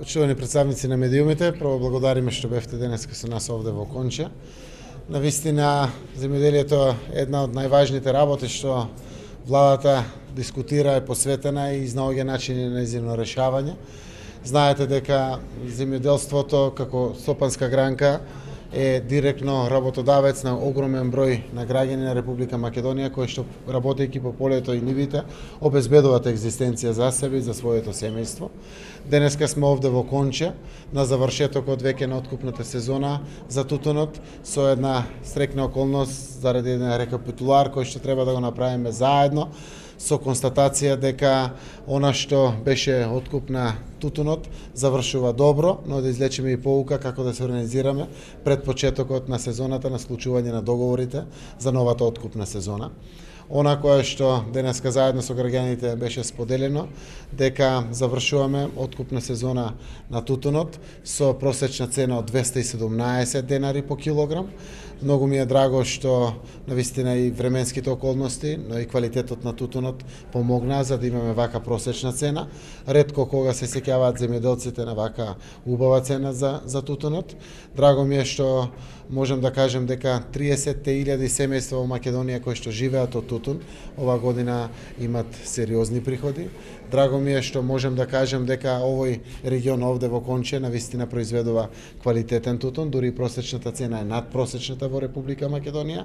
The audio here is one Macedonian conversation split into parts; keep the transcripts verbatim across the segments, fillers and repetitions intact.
Почитувани представници на медиумите, прво благодариме што бевте денеска со нас овде во Конча. Навистина, земјоделието е една од најважните работи што владата дискутира, е посветена и изнаоѓа начини на нејзино решавање. Знаете дека земјоделството како стопанска гранка е директно работодавец на огромен број на граѓани на Република Македонија кои што работејќи по полето и нивите обезбедуваат екзистенција за себе и за своето семејство. Денеска сме овде во Конча на завршетокот веќе на откупната сезона за тутунот со една стрекна околност заради еден рекапитулар кој што треба да го направиме заедно со констатација дека она што беше откуп на тутунот завршува добро, но да извлечеме и поука како да се организираме пред почетокот на сезоната на склучување на договорите за новата откупна сезона. Она кое што денеска заедно со граѓаните беше споделено, дека завршуваме откупна сезона на тутунот со просечна цена од двесте и седумнаесет денари по килограм. Многу ми е драго што навистина и временските околности, но и квалитетот на тутунот помогнаа за да имаме вака просечна цена. Ретко кога се сеќаваат земјоделците на вака убава цена за за тутунот. Драго ми е што можам да кажем дека триесет илјади семејства во Македонија кои што живеат од тутун ова година имат сериозни приходи. Драго ми е што можем да кажем дека овој регион овде во Конче навистина произведува квалитетен тутун, дури и просечната цена е над просечната во Република Македонија,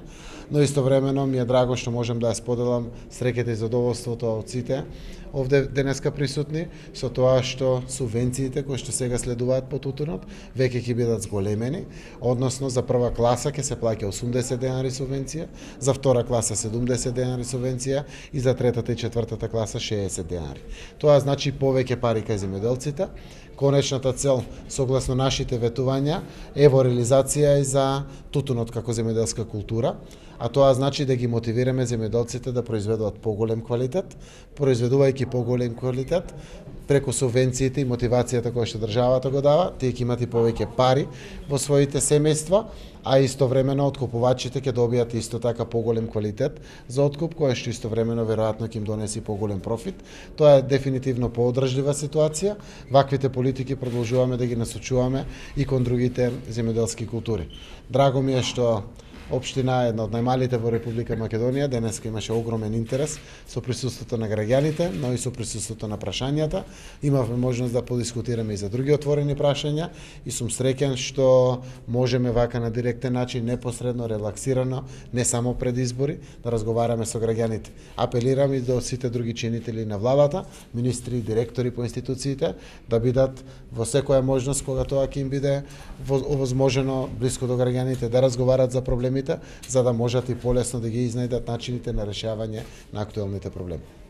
но истовремено ми е драго што можем да ја споделам среќата и задоволството од сите овде денеска присутни со тоа што субвенциите кои што сега следуваат по тутунот веќе ќе бидат зголемени, односно за прва класа ќе се плаќа осумдесет денари субвенција, за втора класа седумдесет денари субвенција и за третата и четвртата класа шеесет денари. Тоа значи повеќе пари кај земјоделците. Конечната цел, согласно нашите ветувања, е во реализација и за тутунот како земјоделска култура, а тоа значи да ги мотивираме земјоделците да произведуваат поголем квалитет, произведувајќи поголем квалитет, преку субвенциите и мотивацијата која што државата го дава, тие ќе имат и повеќе пари во своите семејства, а истовремено откупувачите ќе добијат исто така поголем квалитет за откуп, кој што истовремено веројатно ќе им донеси поголем профит. Тоа е дефинитивно поодржлива ситуација. Ваквите политики продолжуваме да ги насочуваме и кон другите земјоделски култури. Драго ми е што Општина, една од најмалите во Република Македонија, денеска имаше огромен интерес со присуството на граѓаните, но и со присуството на прашањата. Имавме можност да подискутираме и за други отворени прашања и сум среќен што можеме вака на директен начин, непосредно, релаксирано, не само пред избори, да разговараме со граѓаните. Апелирам и до сите други чинители на владата, министри и директори по институциите, да бидат во секоја можност кога тоа ќе им биде овозможено блиско до граѓаните, да разговарат за проблеми, за да можат и полесно да ги изнајдат начините на решавање на актуелните проблеми.